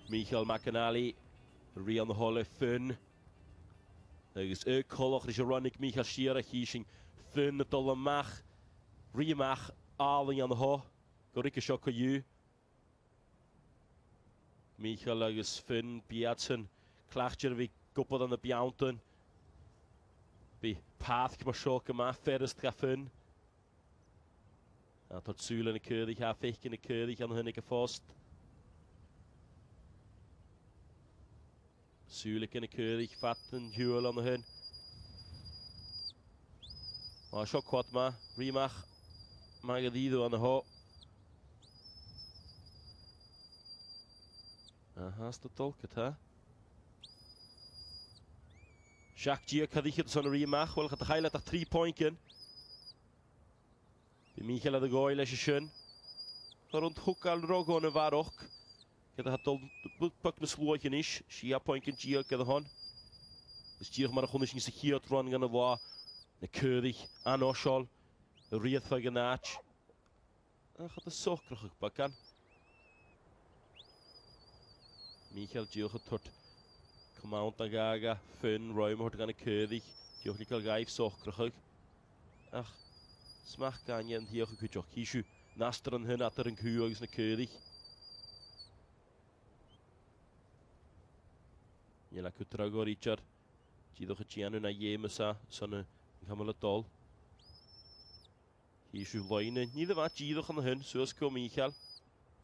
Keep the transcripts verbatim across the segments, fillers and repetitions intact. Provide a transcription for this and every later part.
Michael McAnally, Rian Holle Finn. Agus y colwch leis y rannig Michael Shearer hísing Finn dul amach, ríamach álainn an ho, go rice seo go dú. Michael agus Finn Biadson, clachtir bhí gwybod an y biawntan. Bhí path mar seo go maith ferist ga Finn. A tá súil na cúdaí ha féice na cúdaí an thuna go fást. Súil na cúdaí fatan hiúil an thun. Má seo quad ma, rímach ma go díú an hó. Aha, sta dulca tá. Jacques Gia cadíchad san rímach, bhfuil chad a chaile ach trí pointcin. Bhí Michael a gáil leis sin. Tá an thucáil rogón a bharach. Cad a dul puc na sluaich inis, sí a pointcin Gia cad a hon. Is díoch mar a chuna sin sa chiad run gan a lá na cúdaí an óseáil, a riadfa gan áit. A chad a socrach bacan. Michael díoch a turt command an gaga, Finn, roim hort gan a cúdaí, díoch lícail gaibh socrach. Ach, smach gaine an thíoch a cuideach císiú, nastar an hun atar an cú agus na cúdaí. Níl acu tragóir ítear, díoch a déanú na dhémas san an camal a dul. Císiú loine, ní a bheith díoch an hun, suas go Michael.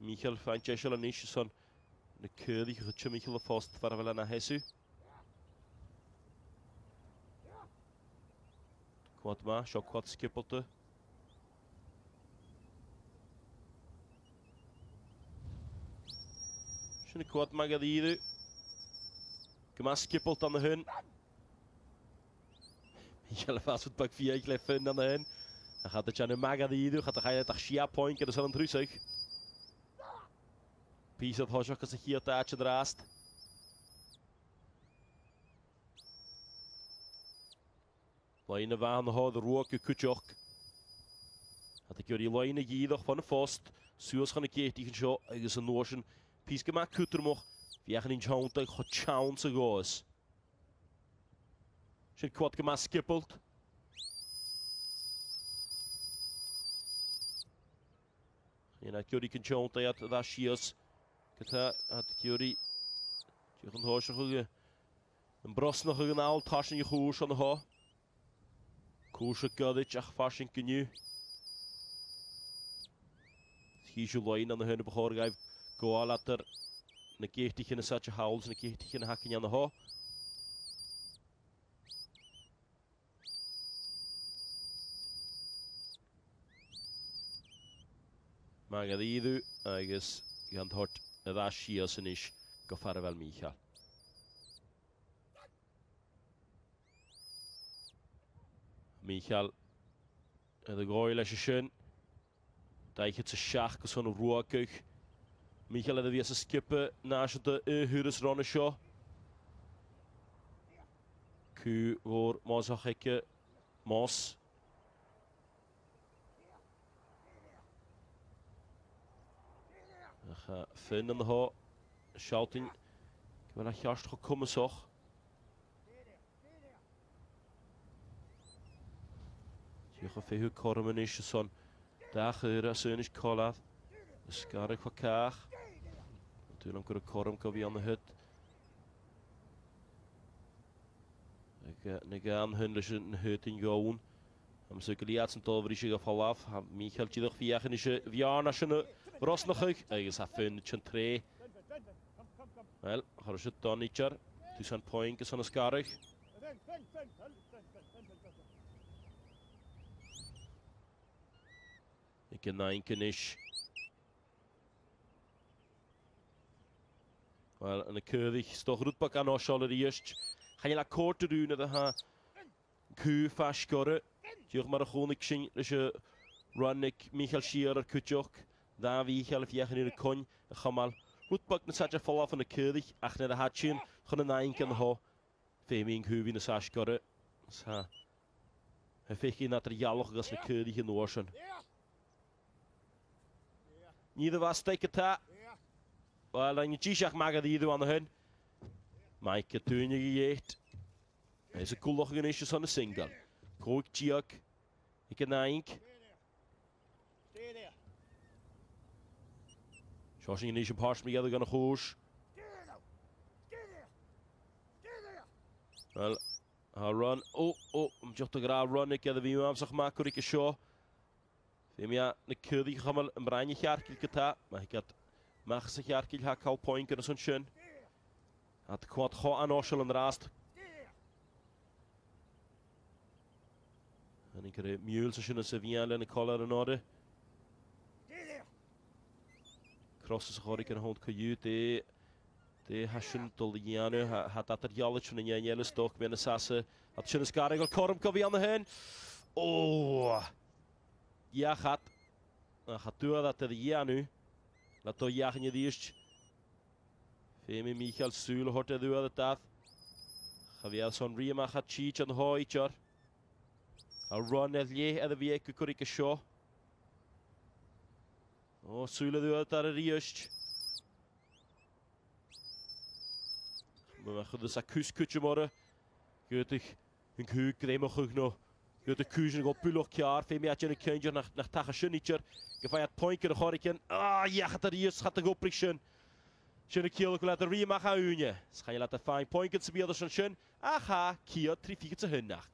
Michael fan deiseal an níos san na cúdaí chu chu Michael a fást far a bhfuil na heisiú. Quad ma, seo quad skippelte. Sin quad ma go díú. Go maith skippelt an na hun. Michael fast het pak vier le Finn an na hun. Dan gaat het aan maga díú, gaat de gaile ach sia point agus an trúsach. Písad thoiseach agus a chiad áit an rást. Leine bhean hád ruach go cuideach. Hat a gcuirí leine dhíadach fan a fást, suas chun na céití an seo agus an nóisean pís go maith cútarmach, bhíoch an teannta chu teann sa gás. Sin quad go maith skippelt. Yna gcuirí cyn teannta iad dda síos. Gyda at gcuirí diolch yn hóiseach ag an brosnach ag an áil tásin i chúis an hó. Cúis a gcuidig ach fásin gynnu. Chísiú lein an na hynny b'chóir gaibh gabháil atar na géirtí na sáte howls na géirtí na hacin an na hó. Mag a ddíú agus gan thort a dda síos inis go farabhel Michael. Michael a dda gáil leis sin. Daichad sa seach go son ruaguch. Michael a dda bhí as a skippe náisiúnta i thuras ranna seo. Cú mhór másach aici más. Ach Finn an há shouting go bhfuil a cheart chu cumasach. Tíoch a fiú corm inis son dach uair as inis colad. Ysgarach chu cach. Dúil am gur a corm go bhí an na hut. Ag na gan hun leis an hut in gón. Am sa go liat san dóbhrí sé go falaf, ha Michael tíadach fiach inis bhearna sin rosnachach agus a Finn tsin tré. Wel, chur sé donítear, tú san point agus an ysgarach. Ag an nainc inis. Wel, yn y cyrddich, stoch rwdbach an osiol yr iest. Chael a cwrt yr un iddo ha cú ffas gorau. Diolch mar a chónaigh sin leis y rannig Michael Shearer ar cuideach. Dda Michael fiach yn i'r coin y chamal. Rwdbach na sadja falaf yn y cyrddich ach na had sin chun y nainc yn ho. Féimín cúbí na sas gorau. Sa. He féici na tar ialach agus na cyrddich yn o'r sin. Ní dda fastaic atá. Wel, ein jíseach magad iadú an hun. Mike dúine dhéit. Is a coolach gan is on a single. Cóig tíag. Ik an naink. Seo sin is an páis me gan a chúis. Wel, ha run. Ó, ó, am jocht gra run ik a bhí amsach macurí go seo. Bhí mé na cúdaí chumal an braine chearcil go ma hiad mach sa chearcil ha cal point gan san sin. At quad cho an oisial an rast. En ik er mule sa sin sa bhí lena collar an order. Cross sa chorí an hond coú de de hasin dul dhéanú ha dat ar jalit sin an dhéanú stoc mé na sasa at sin is garag corm go bhí an na hen. Ó! Jachat a tú dat er dhéanú le tó dheachan dhíist. Fé mé Michael Súl hort a dúad a dath. Cha bhí son ríamach a tíid an háítear. A run ar lé a bhí go curí go seo. Ó Súl a dúad ar a ríist. Ma chud a cús mar Goedich an cú gréimach chuig nó. Goed de cúsin go buloch cear fé mé na ceandir nach nach tacha sinnítear go fé point ar a choicin á jeachat a ríos chat a goprig sin. Sin a cíola go le a ríamach a úne. Schain le a fáin point sa bíad sin sin a cha cia trí ficha sa thunnach.